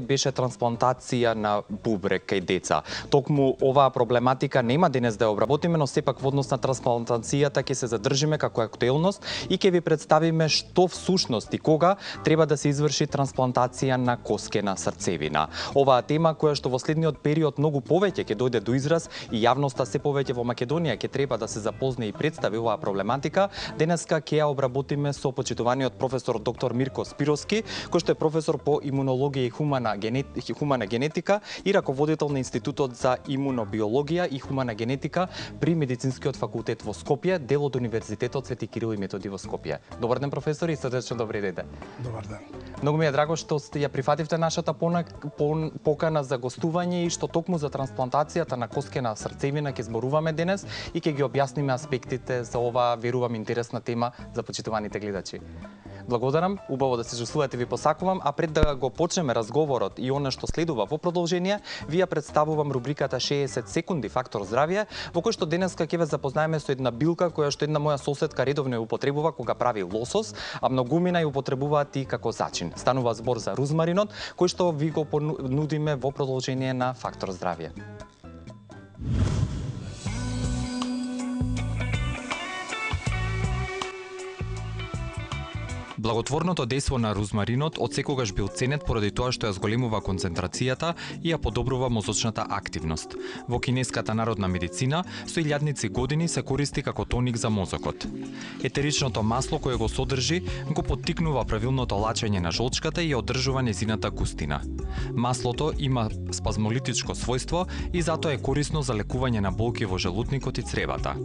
беше трансплантација на бубрек кај деца. Токму оваа проблематика нема денес да ја обработиме, но сепак во однос на трансплантацијата ќе се задржиме како актуелност и ќе ви представиме што всушност и кога треба да се изврши трансплантација на коскена срцевина. Оваа тема која што во следниот период многу повеќе ќе дојде до израз и јавноста се повеќе во Македонија ќе треба да се запозне и представи оваа проблематика, денеска ќе ја обработиме со почитуваниот професор доктор Мирко Спировски, кој што е професор по имунологија и хумана генетика и раководител на Институтот за имунобиологија и хумана генетика при Медицинскиот факултет во Скопје, дел од Универзитетот Свети Кирил и Методи во Скопје. Добар ден, професор, и срдечно добри дете. Добар ден. Многу ми е драго што ја прифативте нашата покана за гостување и што токму за трансплантацијата на коскена срцевина ќе зборуваме денес и ќе ги објасниме аспектите за оваа, верувам, интересна тема за почитуваните гледачи. Благодарам, убаво да се чувствувате, ви посакувам, а пред да го почнеме разговорот и она што следува во продолжение, ви ја представувам рубриката 60 секунди фактор здравје, во кој што денеска ќе ве запознаеме со една билка која што една моја соседка редовно ја употребува кога прави лосос, а многумина ја употребуваат и како зачин. Станува збор за рузмаринот, кој што ви го понудиме во продолжение на фактор здравје. Благотворното дејство на рузмаринот отсекогаш бил ценет поради тоа што ја зголемува концентрацијата и ја подобрува мозочната активност. Во кинеската народна медицина со илјадници години се користи како тоник за мозокот. Етеричното масло кое го содржи го поттикнува правилното лачење на жолчката и ја одржува нејзината густина. Маслото има спазмолитичко својство и затоа е корисно за лекување на болки во желудникот и цревата.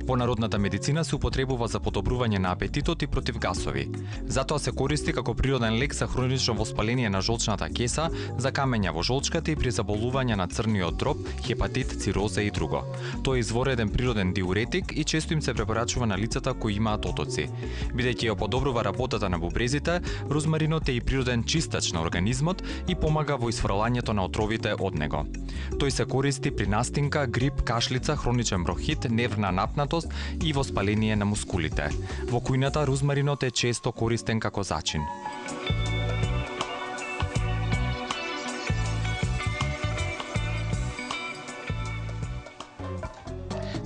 Во народната медицина се употребува за подобрување на апетитот и против гасови. Затоа се користи како природен лек за хронично воспаление на жолчната кеса, за камења во жолчката и при заболување на црниот дроб, хепатит, цироза и друго. Тој е извореден природен диуретик и често им се препорачува на лицата кои имаат отоци. Бидејќи ја подобрува работата на бубрезите, рузмаринот е и природен чистач на организмот и помага во исфрлањето на отровите од него. Тој се користи при настинка, грип, кашлица, хроничен бронхит, нервна напнатост и воспаление на мускулите. Во кујната рузмаринот е често користен како зачин.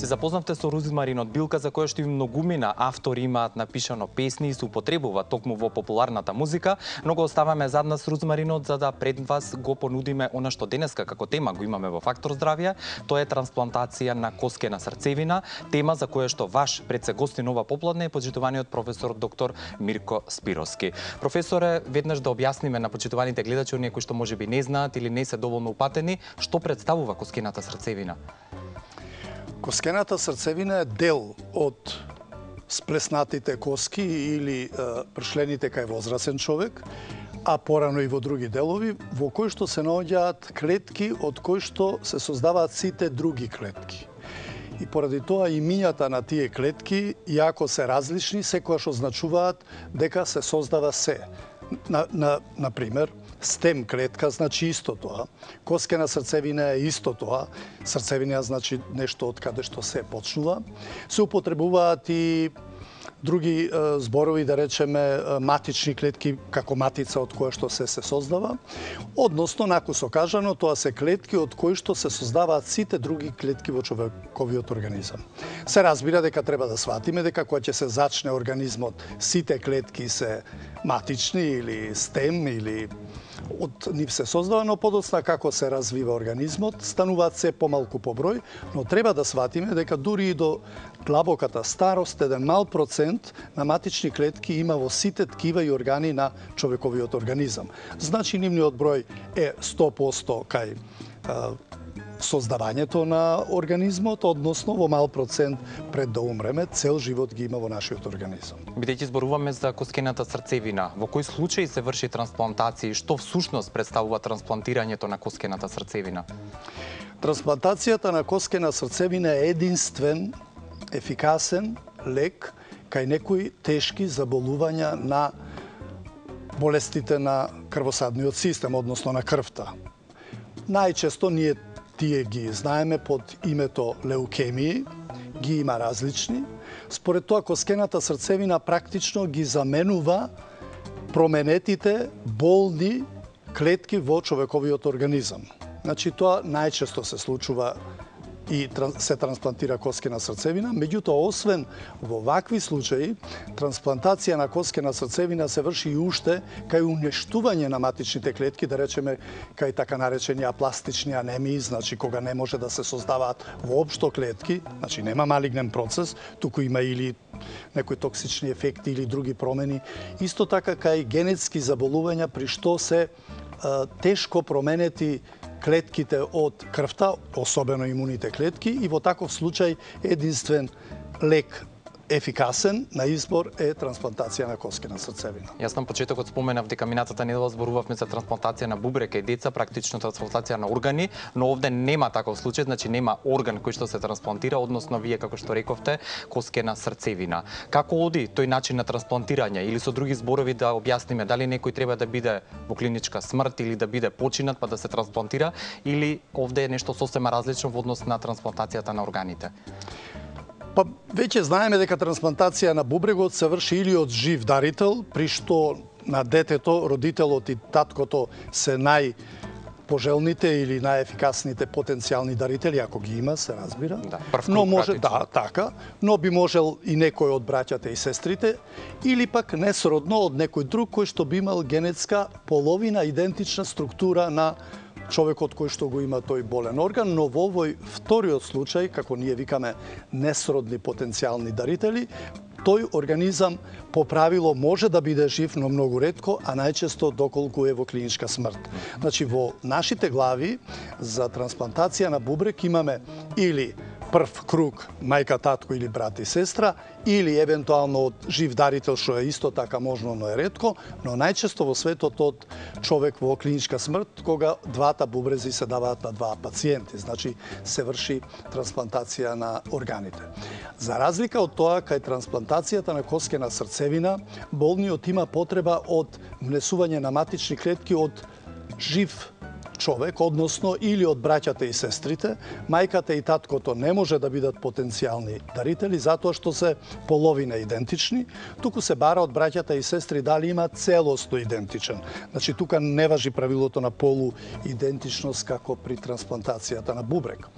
Се запознавте со рузмаринот, билка за која што и многумина автори имаат напишано песни и се употребува токму во популарната музика, но го оставаме зад нас рузмаринот за да пред вас го понудиме она што денеска како тема го имаме во фактор здравје, тоа е трансплантација на коскена срцевина, тема за која што ваш предсегостин ова попладне е почитуваниот професор доктор Мирко Спировски. Професоре, веднаш да објасниме на почитуваните гледачи, оние кои што можеби не знаат или не се доволно упатени, што представува коскената срцевина? Коскената срцевина е дел од сплеснатите коски или пршлените кај возрасен човек, а порано и во други делови, во кои што се наоѓаат клетки од кои што се создаваат сите други клетки. И поради тоа имињата на тие клетки, иако се различни, секогаш означуваат дека се создава се. Например, стем клетка значи исто тоа, коскена срцевина е исто тоа, срцевина значи нешто од каде што се почнува. Се употребуваат и други зборови, да речеме, матични клетки, како матица од која што се создава. Односно, накусо кажано, тоа се клетки од кои што се создаваат сите други клетки во човековиот организам. Се разбира дека треба да сватиме дека кога ќе се зачне организмот, сите клетки се матични или стем или од нив се создава, но подоцна како се развива организмот, стануваат се помалку по број, но треба да сватиме дека дури и до длабоката старост, еден мал процент на матични клетки има во сите ткива и органи на човековиот организам. Значи, нивниот број е 100% кај создавањето на организмот, односно во мал процент пред да умреме, цел живот ги има во нашиот организам. Бидејќи зборуваме за коскената срцевина, во кој случај се врши трансплантација и што всушност представува трансплантирањето на коскената срцевина? Трансплантацијата на коскена срцевина е единствен, ефикасен лек кај некои тешки заболувања на болестите на крвосадниот систем, односно на крвта. Најчесто ние тие ги знаеме под името леукемии, ги има различни. Според тоа, коскената срцевина практично ги заменува променетите болни клетки во човековиот организам. Значи, тоа најчесто се случува и се трансплантира коскена срцевина, меѓутоа, освен во вакви случаи, трансплантација на коскена срцевина се врши и уште кај уништување на матичните клетки, да речеме, кај така наречени апластични анемии, значи кога не може да се создаваат воопшто клетки, значи нема малигнен процес, туку има или некои токсични ефекти или други промени. Исто така кај генетски заболувања при што се тешко променети клетките од крвта, особено имуните клетки, и во таков случај единствен лек ефикасен на избор е трансплантација на коскена срцевина. Јас на почетокот споменав дека минатата недела зборувавме за трансплантација на бубрек и деца, практично трансплантација на органи, но овде нема таков случај, значи нема орган кој што се трансплантира, односно вие како што рековте, коскена срцевина. Како оди тој начин на трансплантирање, или со други зборови да објасниме дали некој треба да биде во клиничка смрт или да биде починат па да се трансплантира, или овде е нешто сосема различно во однос на трансплантацијата на органите? Па веќе знаеме дека трансплантација на бубрегот се врши или од жив дарител, при што на детето родителот и таткото се најпожелните или најефикасните потенцијални дарители, ако ги има, се разбира. Да, но може така, но би можел и некој од браќата и сестрите, или пак несродно од некој друг кој што би имал генетска половина идентична структура на човекот кој што го има тој болен орган, но во овој вториот случај, како ние викаме несродни потенцијални дарители, тој организам по правило може да биде жив, но многу ретко, а најчесто доколку е во клиничка смрт. Значи, во нашите глави за трансплантација на бубрек имаме или прв круг мајка, татко или брат и сестра, или евентуално од жив дарител, што е исто така можно, но е ретко, но најчесто во светот од човек во клиничка смрт, кога двата бубрези се даваат на два пациенти, значи се врши трансплантација на органите. За разлика од тоа, кај трансплантацијата на коскена срцевина, болниот има потреба од внесување на матични клетки од жив човек, односно или од браќата и сестрите. Мајката и таткото не може да бидат потенцијални дарители, затоа што се половина идентични, туку се бара од браќата и сестри дали има целосно идентичен. Значи, тука не важи правилото на полу идентичност како при трансплантацијата на бубрек.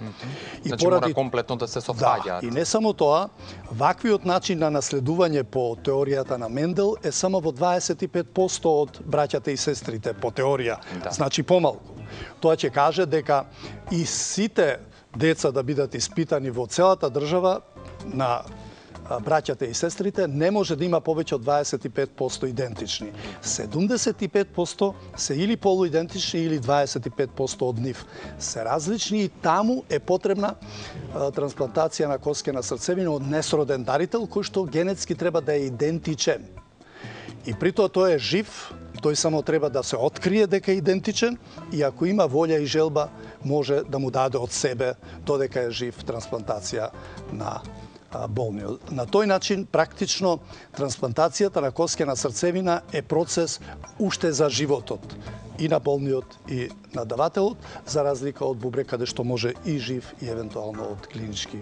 И значи, мора комплетно да се совпаѓаат. Да, и не само тоа, ваквиот начин на наследување по теоријата на Мендел е само во 25% од браќата и сестрите, по теорија, значи помалку. Тоа ќе каже дека и сите деца да бидат испитани во целата држава на браќата и сестрите не може да има повеќе од 25% идентични. 75% се или полуидентични или 25% од нив се различни, и таму е потребна трансплантација на коскена срцевина од несроден дарител кој што генетски треба да е идентичен. И при тоа тој е жив, тој само треба да се открие дека е идентичен, и ако има волја и желба, може да му даде од себе додека е жив трансплантација на болниот. На тој начин, практично, трансплантацијата на коскена срцевина е процес уште за животот и на болниот и на давателот, за разлика од бубрек, каде што може и жив и евентуално од клинички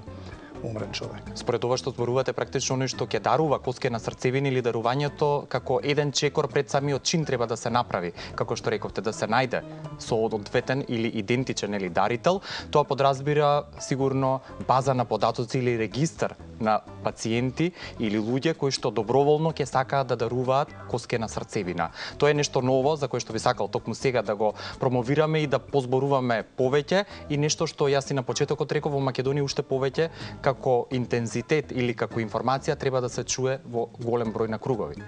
умрен човек. Според ова што зборувате, практично нешто ќе дарува коскена срцевина или дарувањето како еден чекор пред самиот чин треба да се направи, како што рековте, да се најде соодветен или идентичен или дарител, тоа подразбира сигурно база на податоци или регистар на пациенти или луѓе кои што доброволно ќе сакаат да даруваат коскена срцевина. Тоа е нешто ново за кое што би сакал токму сега да го промовираме и да позборуваме повеќе, и нешто што јас и на почетокот реков, во Македонија уште повеќе како интензитет или како информација треба да се чуе во голем број на кругови.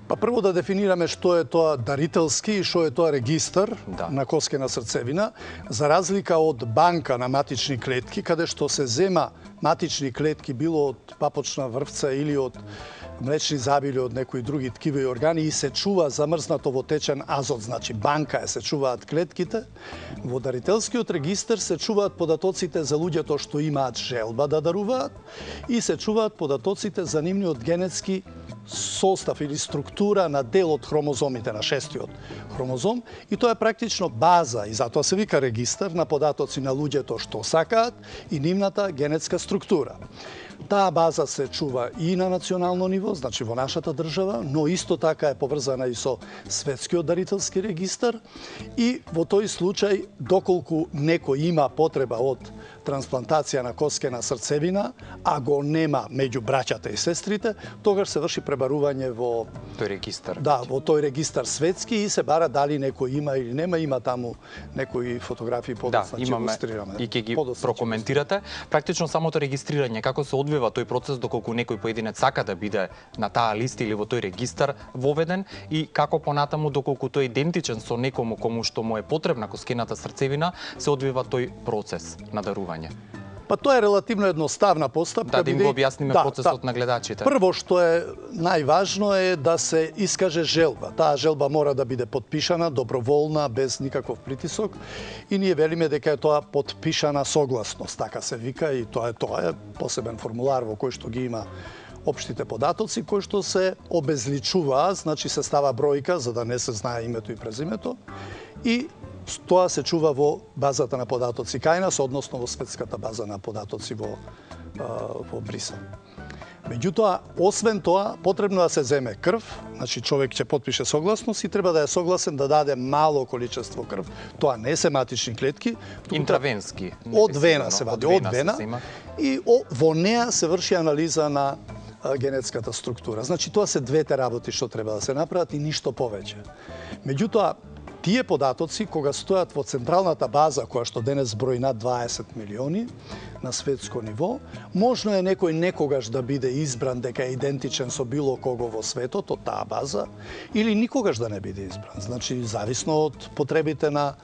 Па прво да дефинираме што е тоа дарителски и што е тоа регистар на коскена срцевина, за разлика од банка на матични клетки, каде што се зема матични клетки било од папочна врвца или од млечни забили од некои други ткива и органи и се чува замрзнато во течен азот, значи банка се чуваат клетките. Во дарителскиот регистар се чуваат податоците за луѓето што имаат желба да даруваат и се чуваат податоците за нивниот генетски состав или структура на дел од хромозомите, на шестиот хромозом, и тоа е практично база, и затоа се вика регистар на податоци на луѓето што сакаат и нивната генетска структура. Таа база се чува и на национално ниво, значи во нашата држава, но исто така е поврзана и со светскиот дарителски регистар и во тој случај, доколку некој има потреба од трансплантација на коскена срцевина, а го нема меѓу браќата и сестрите, тогаш се врши пребарување во тој регистар. Да, во тој регистар светски и се бара дали некој има или нема, има таму некои фотографии подоцна ќе илустрираме. И ќе ги прокоментирате. Практично самото регистрирање, како се одвива тој процес доколку некој поединец сака да биде на таа листа или во тој регистар воведен и како понатаму доколку тој е идентичен со некому кому што му е потребна коскената срцевина, се одвива тој процес на дарување. Па тоа е релативно едноставна постапка. Да им го објасниме процесот на гледачите. Прво што е најважно е да се искаже желба. Таа желба мора да биде потпишана, доброволна, без никаков притисок. И ние велиме дека е тоа потпишана согласност, така се вика, и тоа е посебен формулар во кој што ги има општите податоци, кои што се обезличуваат, значи се става бројка за да не се знае името и презимето, и тоа се чува во базата на податоци кај нас, односно во светската база на податоци во Брисел. Меѓутоа, освен тоа, потребно да се земе крв, значи човек ќе потпише согласност и треба да е согласен да даде мало количество крв. Тоа не се матични клетки. Интравенски. Од вена се вади, од вена. И во неа се врши анализа на генетската структура. Значи, тоа се двете работи што треба да се направат и ништо повеќе. Меѓутоа, тие податоци, кога стојат во централната база, која што денес брои над 20 милиони на светско ниво, можно е некој некогаш да биде избран дека е идентичен со било кого во светот од таа база, или никогаш да не биде избран. Значи, зависно од потребите на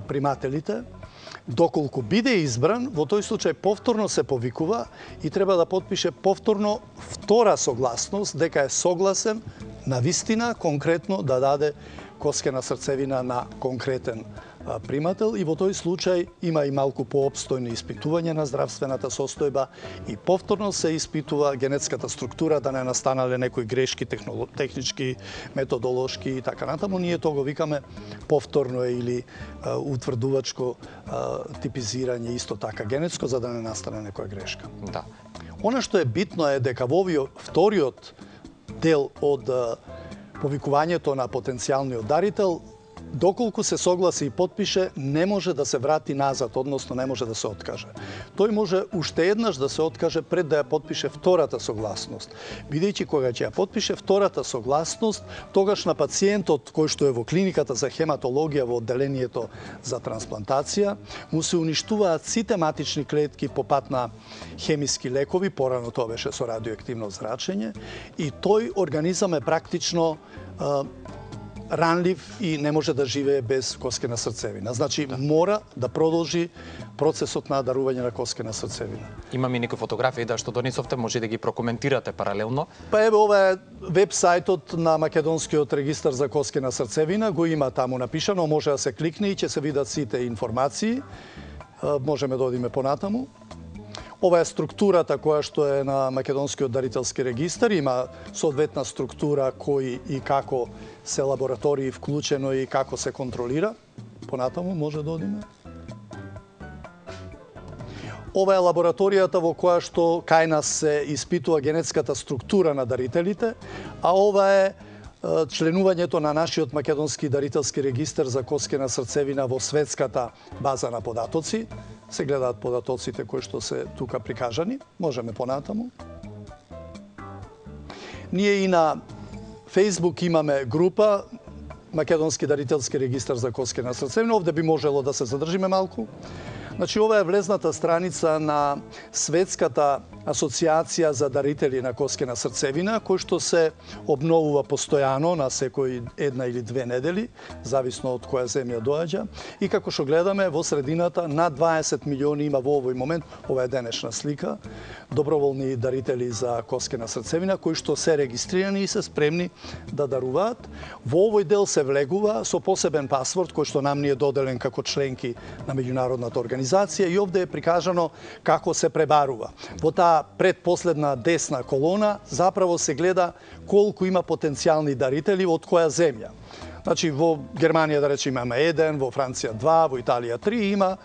примателите. Доколку биде избран, во тој случај повторно се повикува и треба да потпише повторно втора согласност дека е согласен на вистина конкретно да даде коскена срцевина на конкретен примател, и во тој случај има и малку поопстојни испитување на здравствената состојба и повторно се испитува генетската структура да не настанале некои грешки технички, методолошки и така натаму. Ние тоа го викаме повторно или утврдувачко типизирање, исто така генетско, за да не настане некоја грешка. Да. Она што е битно е дека во вториот дел од повикувањето на потенцијалниот дарител, доколку се согласи и потпише, не може да се врати назад, односно не може да се откаже. Тој може уште еднаш да се откаже пред да ја потпише втората согласност. Бидејќи кога ќе ја потпише втората согласност, тогаш на пациентот кој што е во клиниката за хематологија во одделението за трансплантација, му се уништуваат сите матични клетки по пат на хемиски лекови, порано тоа беше со радиоактивно зрачење, и тој организам е практично ранлив и не може да живее без коскена срцевина. Значи, мора да продолжи процесот на дарување на коскена срцевина. Имаме некои фотографии што донесовте, може да ги прокоментирате паралелно. Па еве, ова е веб-сајтот на Македонскиот регистар за коскена срцевина, го има таму напишано, може да се кликне и ќе се видат сите информации. Можеме да одиме понатаму. Ова е структурата која што е на Македонскиот дарителски регистар, има соодветна структура кои и како се лаборатории вклучено и како се контролира. Понатаму може да одиме. Ова е лабораторијата во која што кај нас се испитува генетската структура на дарителите, а ова е членувањето на нашиот Македонски дарителски регистар за коскена срцевина во светската база на податоци. Се гледаат податоците кои што се тука прикажани. Можеме понатаму. Ние и на Facebook имаме група Македонски дарителски регистар за коскена срцевина. Овде би можело да се задржиме малку. Значи, ова е влезната страница на Светската асоциација за дарители на коскена срцевина, кој што се обновува постојано на секој една или две недели, зависно од која земја доаѓа. И како што гледаме, во средината над 20 милиони има во овој момент, ова е денешна слика, доброволни дарители за коскена срцевина, кои што се регистрирани и се спремни да даруваат. Во овој дел се влегува со посебен пасворд, кој што нам ни е доделен како членки на меѓународната организација, и овде е прикажано како се пребарува. Во таа предпоследна десна колона заправо се гледа колку има потенцијални дарители од која земја. Значи, во Германија, да речеме, има 1, во Франција 2, во Италија 3, има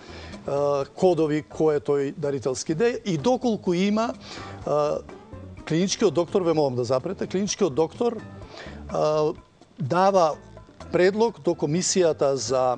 кодови кој е тој дарителски дел и доколку има клиничкиот доктор, ве молам да запрете, клиничкиот доктор дава предлог до Комисијата за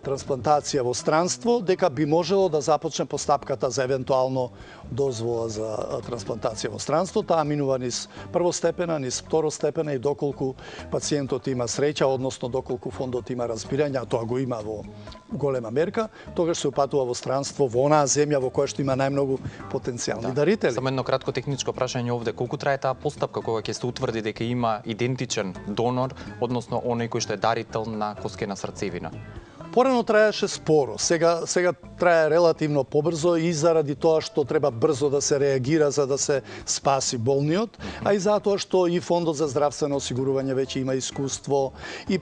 трансплантација во странство, дека би можело да започне постапката за евентуално дозвола за трансплантација во странство. Таа минува низ првостепена, низ второстепена и доколку пациентот има среќа, односно доколку фондот има разбирање, а тоа го има во голема мерка, тогаш се упатува во странство, во онаа земја во која што има најмногу потенцијални дарители. Само едно кратко техничко прашање овде. Колку трае таа постапка кога ќе се утврди дека има идентичен донор, односно оној кој што е дарител на коскена срцевина? Порано траеше споро, сега трае релативно побрзо и заради тоа што треба брзо да се реагира за да се спаси болниот, а и затоа што и Фондот за здравствено осигурување веќе има искуство и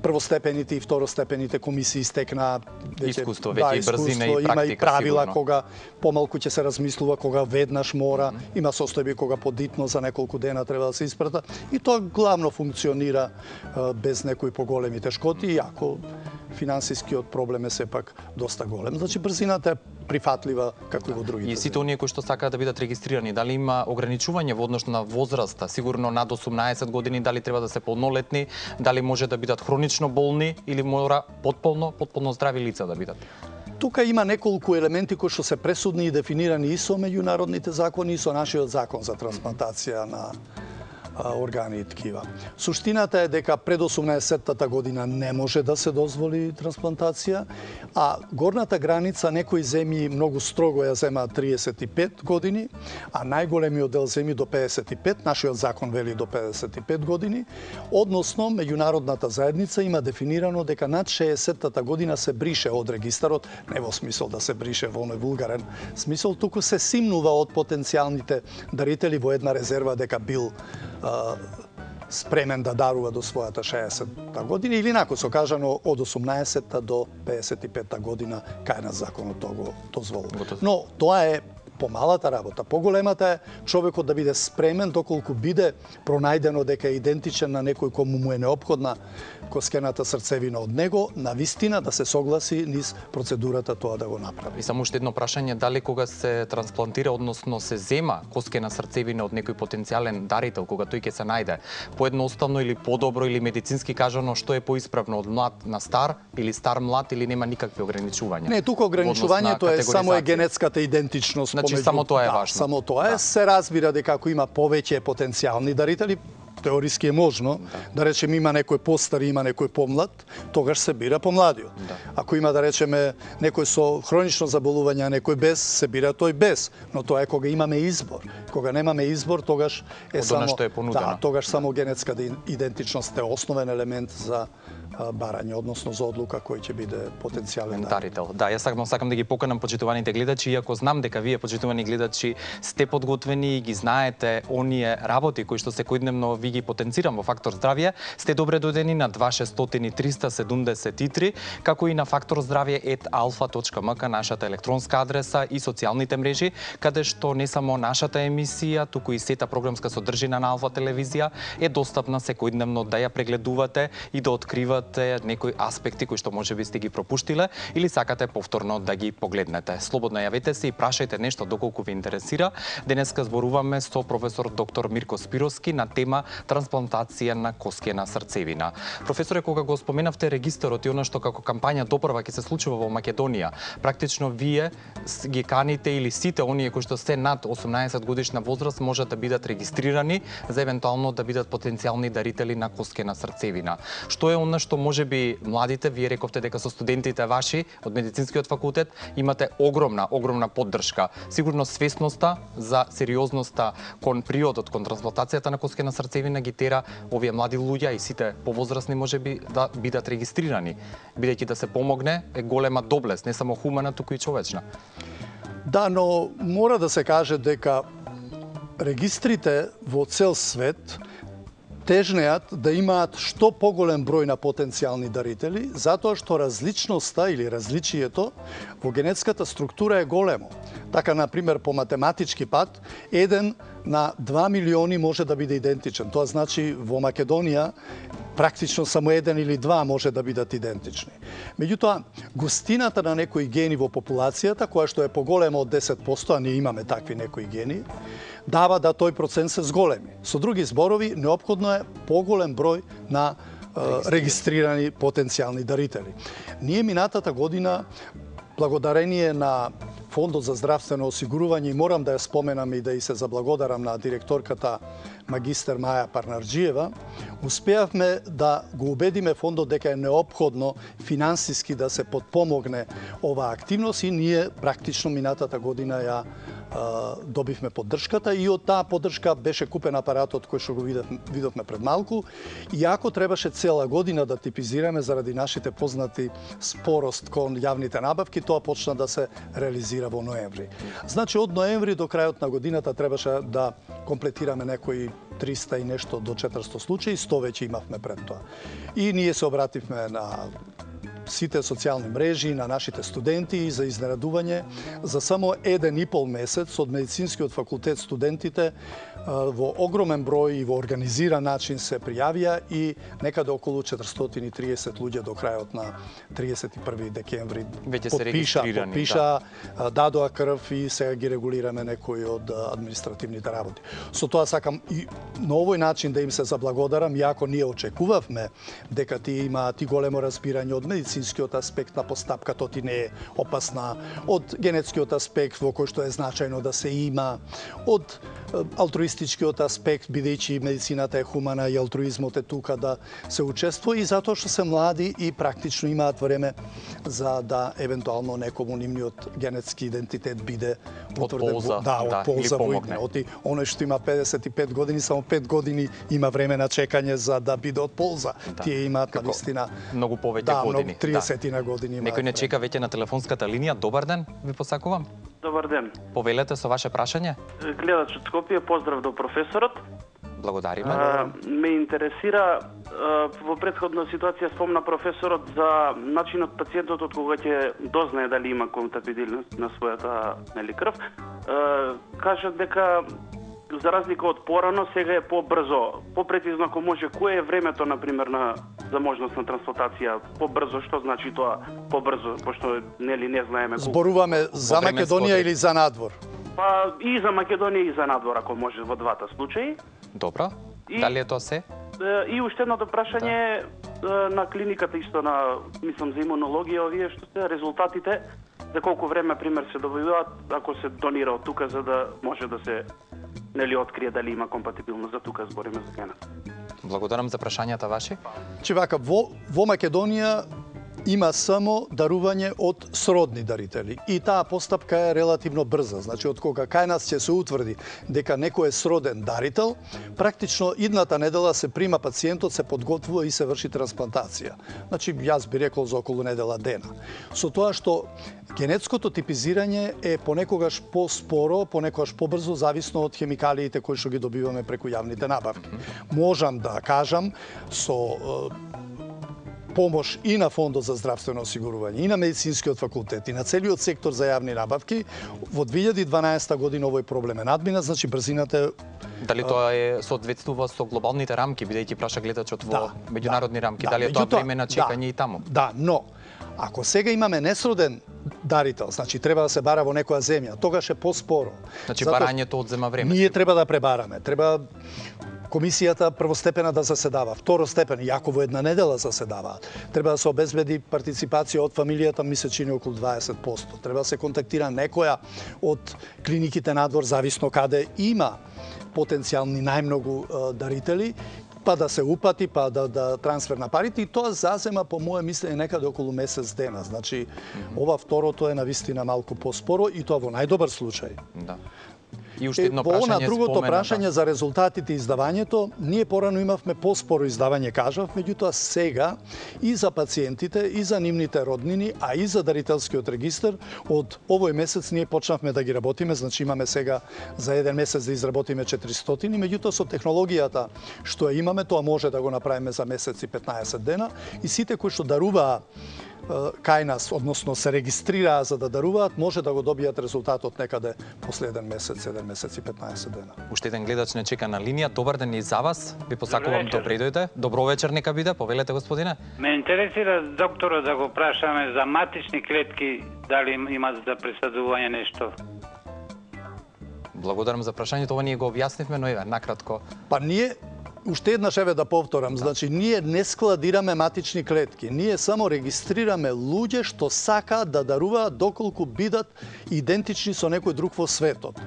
првостепените и второстепените комисии стекна искуство, веќе и брзина и практика. Има и правила сигурно. кога помалку ќе се размислува, кога веднаш мора, има состојби кога подитно за неколку дена треба да се испрата и тоа главно функционира без некои поголеми тешкоти, иако финансискиот проблем е сепак доста голем. Значи брзината е прифатлива како и во другите. И сите оние кои што сакаат да бидат регистрирани, дали има ограничување во однос на возраста? Сигурно над 18 години, дали треба да се полнолетни, дали може да бидат хронично болни или мора потполно здрави лица да бидат? Тука има неколку елементи кои што се пресудни и дефинирани и со меѓународните закони и со нашиот закон за трансплантација на органи и ткива. Суштината е дека пред 18-тата година не може да се дозволи трансплантација, а горната граница некои земји многу строго ја земаат 35 години, а најголемиот дел земји до 55, нашиот закон вели до 55 години, односно меѓународната заедница има дефинирано дека над 60-тата година се брише од регистарот, не во смисол да се брише во оној вулгарен смисол, туку се симнува од потенцијалните дарители во една резерва дека бил спремен да дарува до својата 60-та година или инаку со кажано од 18-та до 55-та година кај на законот тоа го дозволува. Но тоа е помалата работа. Поголемата е човекот да биде спремен доколку биде пронајдено дека е идентичен на некој кому му е неопходна коскената срцевина од него, на вистина да се согласи низ процедурата тоа да го направи. И само уште едно прашање, дали кога се трансплантира, односно се зема коскена срцевина од некој потенцијален дарител, кога тој ќе се најде, поедноставно или подобро или медицински кажано, што е поисправно од млад на стар или стар млад или нема никакви ограничувања? Не, тука ограничувањето е само генетската идентичност. Значи само тоа е важно. Само тоа е. Се разбира дека ако има повеќе потенцијални дарители, теориски е можно, да речеме има некој постар и има некој помлад, тогаш се бира помладиот. Ако има да речеме некој со хронично заболување, а некој без, се бира тој без, но тоа е кога имаме избор. Кога немаме избор, тогаш е само што е понудено. тогаш само генетската идентичност е основен елемент за барање, односно за одлука кој ќе биде потенцијален дарител. Да, јас сакам да ги поканам почитуваните гледачи, иако знам дека вие почитувани гледачи сте подготвени и ги знаете оние работи кои што секојдневно ви ги потенцирам во Фактор здравје, сте добре дојдени на 2600-373, како и на faktorzdravje@alfa.mk, нашата електронска адреса и социјалните мрежи, каде што не само нашата емисија, туку и сета програмска содржина на Алфа телевизија е достапна секојдневно да ја прегледувате и да откривате некои аспекти кои што можеби сте ги пропуштиле или сакате повторно да ги погледнете. Слободно јавете се и прашајте нешто доколку ви интересира. Денеска зборуваме со професор доктор Мирко Спировски на тема трансплантација на коскена срцевина. Професоре, кога го споменавте регистарот и она што како кампања допрва ќе се случува во Македонија, практично вие ги каните или сите оние кои што се над 18 годишна возраст можат да бидат регистрирани за евентуално да бидат потенцијални дарители на коскена срцевина. Што е она што можеби младите, вие рековте дека со студентите ваши од медицинскиот факултет имате огромна поддршка. Сигурно свесноста за сериозноста кон приодот кон трансплантацијата на коскена срцевина ги тера овие млади луѓе и сите повозрасни можеби да бидат регистрирани, бидејќи да се помогне е голема доблест, не само хумана, туку и човечна. Да, но мора да се каже дека регистрите во цел свет тежнеат да имаат што поголем број на потенцијални дарители, затоа што различноста или различието во генетската структура е големо. Така, например, по математички пат, 1 на 2 милиони може да биде идентичен. Тоа значи во Македонија практично само еден или два може да бидат идентични. Меѓутоа, густината на некои гени во популацијата, која што е поголема од 10%, а ние имаме такви некои гени, дава да тој процент се зголеми. Со други зборови, неопходно е поголем број на регистрирани потенцијални дарители. Ние минатата година, благодарение на Фондот за здравствено осигурување, и морам да ја споменам и да и се заблагодарам на директорката магистер Маја Парнарџиева, успеавме да го убедиме фондот дека е неопходно финансиски да се подпомогне оваа активност и ние практично минатата година ја добивме поддршката и од таа поддршка беше купен апаратот кој што го видовме пред малку. И ако требаше цела година да типизираме заради нашите познати спорост кон јавните набавки, тоа почна да се реализира во ноември. Значи од ноември до крајот на годината требаше да комплетираме некои 300 и нешто до 400 случаи, 100 веќе имавме пред тоа. И ние се обративме на сите социјални мрежи, на нашите студенти за изненадување. За само 1,5 месец од медицинскиот факултет студентите во огромен број и во организиран начин се пријавија и некаде околу 430 луѓе до крајот на 31 декември подпиша, дадоа крв и сега ги регулираме некои од административните работи. Со тоа сакам и на овој начин да им се заблагодарам, иако ние очекувавме дека тие имаат и големо разбирање од медицинскиот аспект на постапката, ти не е опасна, од генетскиот аспект во кој што е значајно да се има, од алтруистичкиот аспект, бидејќи медицината е хумана и алтруизмот е тука да се учествува, и затоа што се млади и практично имаат време за да евентуално некому нивниот генетски идентитет биде утврден, од полза во идне. Оној што има 55 години, само 5 години има време на чекање за да биде од полза. Тие имаат навистина многу повеќе години. 30 на години. Некој не чека веќе на телефонската линија. Добар ден, ви посакувам. Добар ден. Повелете со ваше прашање. Гледач од Скопје, поздрав до професорот. Благодариме. Ме интересира, во претходна ситуација спомна професорот за начинот пациентот од кога ќе дознае дали има компатибилност на својата крв. Кажат дека за разлика од порано, сега е побрзо. Попрецизно, ако може, кое е времето, например, за можност на трансплантација? Побрзо, што значи тоа побрзо, пошто не знаеме колку. Зборуваме за Македонија или за надвор? Па и за Македонија и за надвор, ако може, во двата случаи. Добро. Дали е тоа се? И уште едното прашање на клиниката, исто на, мислам, за имунологија, овие што се резултатите, за колку време, пример, се добиваат, ако се донира од тука, за да може да се открие дали има компатибилност, за тука збориме за генет. Благодарам за прашањата ваши. Вака, во Македонија има само дарување од сродни дарители. И таа постапка е релативно брза. Значи, од кога кај нас ќе се утврди дека некој е сроден дарител, практично идната недела се прима пациентот, се подготвува и се врши трансплантација. Значи, јас би рекол за околу недела дена. Со тоа што генетското типизирање е понекогаш поспоро, понекогаш побрзо, зависно од хемикалиите кои што ги добиваме преку јавните набавки. Можам да кажам со помош и на Фондот за здравствено осигурување, и на медицинскиот факултет, и на целиот сектор за јавни набавки, во 2012 година овој проблем е надминат, значи брзината Дали тоа е соодветствува со глобалните рамки, бидејќи праша гледачот во меѓународни рамки, дали е тоа време на чекање и таму? Да, но ако сега имаме несроден дарител, значи треба да се бара во некоја земја, тогаш е поспоро. Значи барањето одзема време. Ние треба да пребараме, треба комисијата првостепена да заседава, второстепена, иако во една недела заседава. Треба да се обезбеди партиципација од фамилијата, ми се чини околу 20%. Треба да се контактира некоја од клиниките надвор, зависно каде има потенцијални најмногу дарители, па да се упати, па да трансфер на парите, и тоа зазема, по моје мислење, некаде околу месец дена. Значи, ова второто е навистина малку поспоро, и тоа во најдобар случај. Да. И уште едно прашање на другото прашање за резултатите и издавањето, ние порано имавме поспоро издавање, кажав, меѓутоа сега и за пациентите, и за нивните роднини, а и за дарителскиот регистар, од овој месец ние почнавме да ги работиме, значи имаме сега за еден месец да изработиме 400, меѓутоа со технологијата што ја имаме, тоа може да го направиме за месец и 15 дена, и сите кои што даруваа кај нас, односно се регистрираа за да даруваат, може да го добијат резултатот некаде после 1 месец, 7 месеци и 15 дена. Уште еден гледач не чека на линија. Добар ден и за вас. Ви посакувам добре дојде. Добро вечер нека биде. Повелете, господине. Ме интересира доктора да го прашаме за матични клетки, дали има за пресадување нешто. Благодарам за прашањето. Ова ние го објаснивме, но еве накратко. Па ние уште еднаш еве да повторам, значи ние не складираме матични клетки, ние само регистрираме луѓе што сакаат да даруваат доколку бидат идентични со некој друг во светот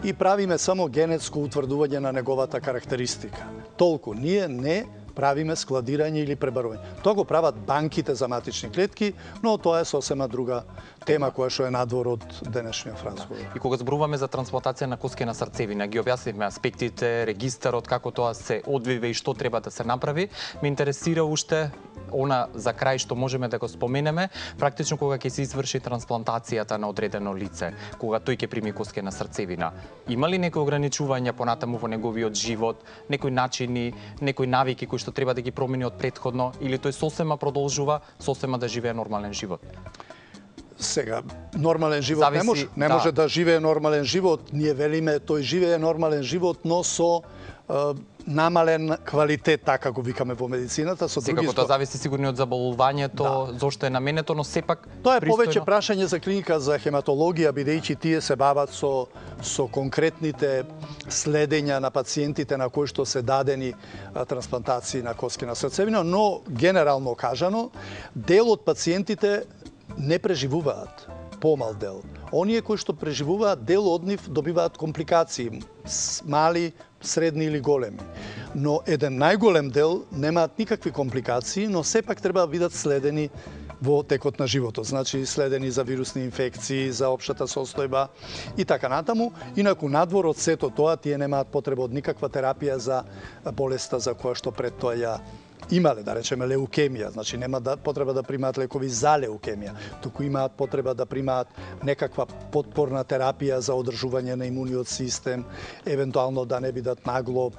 и правиме само генетско утврдување на неговата карактеристика. Толку, ние не правиме складирање или пребарување. Тоа го прават банките за матични клетки, но тоа е сосема друга тема која што е надвор од денешниот разговор. И кога зборуваме за трансплантација на коскена срцевина, ги објаснивме аспектите, регистарот, како тоа се одвива и што треба да се направи. Ме интересира уште она за крај што можеме да го споменеме, практично кога ќе се изврши трансплантацијата на одредено лице, кога тој ќе прими коскена срцевина. Има ли некои ограничувања понатаму во неговиот живот, некои начини, некои навики кои што треба да ги промени од претходно, или тој сосема продолжува сосема да живее нормален живот? Сега, нормален живот не може да живее нормален живот. Ние велиме тој живее нормален живот, но со намален квалитет, така го викаме во медицината, со други. Секако тоа зависи сигурно од заболувањето, зошто е наменето, но сепак тоа е повеќе прашање за клиника за хематологија, бидејќи тие се бават со конкретните следења на пациентите на кои што се дадени трансплантации на коскена срцевина, но генерално кажано, дел од пациентите не преживуваат, помал дел. Оние кои што преживуваат, дел од нив добиваат компликации, мали, средни или големи. Но еден најголем дел немаат никакви компликации, но сепак треба да бидат следени во текот на животот. Значи, следени за вирусни инфекции, за општата состојба и така натаму. Инаку, надвор од сето тоа, тие немаат потреба од никаква терапија за болеста за која што пред тоа ја имале, да речеме, леукемија, значи нема потреба да примаат лекови за леукемија, туку имаат потреба да примаат некаква потпорна терапија за одржување на имуниот систем, евентуално да не бидат нагло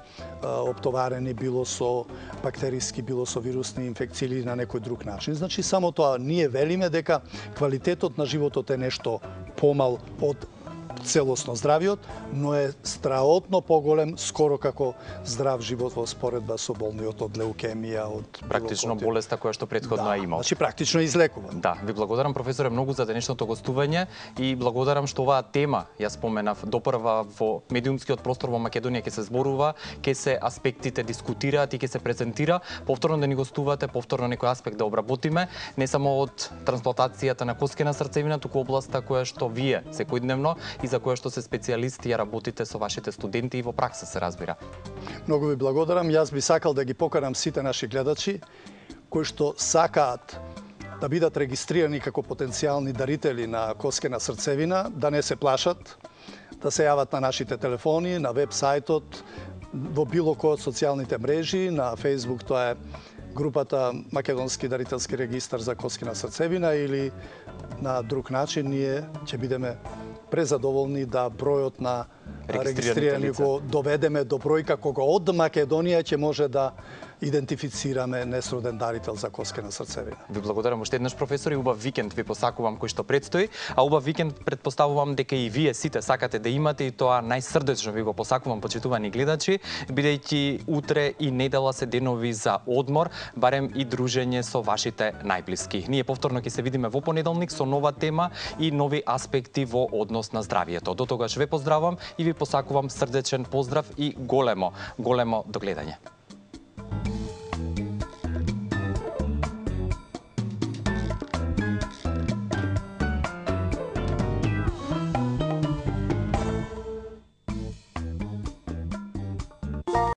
оптоварени било со бактериски, било со вирусни инфекции или на некој друг начин. Значи само тоа ние велиме дека квалитетот на животот е нешто помал од целосно здравиот, но е страотно поголем, скоро како здрав живот во споредба со болниот од леукемија, од практично болеста која што претходно е имал. Значи практично излекуван. Да, ви благодарам професоре многу за денешното гостување и благодарам што оваа тема ја споменав допрва во медиумскиот простор во Македонија ќе се зборува, ќе се аспектите дискутираат и ќе се презентира, повторно да ни гостувате, повторно некој аспект да обработиме, не само од трансплантацијата на коскена срцевина, туку областа која што вие секојдневно и за која што се специјалисти ја работите со вашите студенти и во пракса се разбира. Многу ви благодарам. Јас би сакал да ги поканам сите наши гледачи кои што сакаат да бидат регистрирани како потенцијални дарители на коскена срцевина, да не се плашат, да се јават на нашите телефони, на веб сајтот, во било кој од социјалните мрежи, на Facebook тоа е групата Македонски дарителски регистар за коскена срцевина или на друг начин ние ќе бидеме презадоволни да бројот на регистрирани го доведеме до бројка кога од Македонија ќе може да идентифицираме несроден дарител за коскена срцевина. Ви благодарам уште еднаш професор и убав викенд ви посакувам кој што предстои, а убав викенд претпоставувам дека и вие сите сакате да имате и тоа најсрдечно ви го посакувам, почитувани гледачи, бидејќи утре и недела се денови за одмор, барем и дружење со вашите најблиски. Ние повторно ќе се видиме во понеделник со нова тема и нови аспекти во однос на здравието. До тогаш ве поздравам и ви посакувам срдечен поздрав и големо догледање.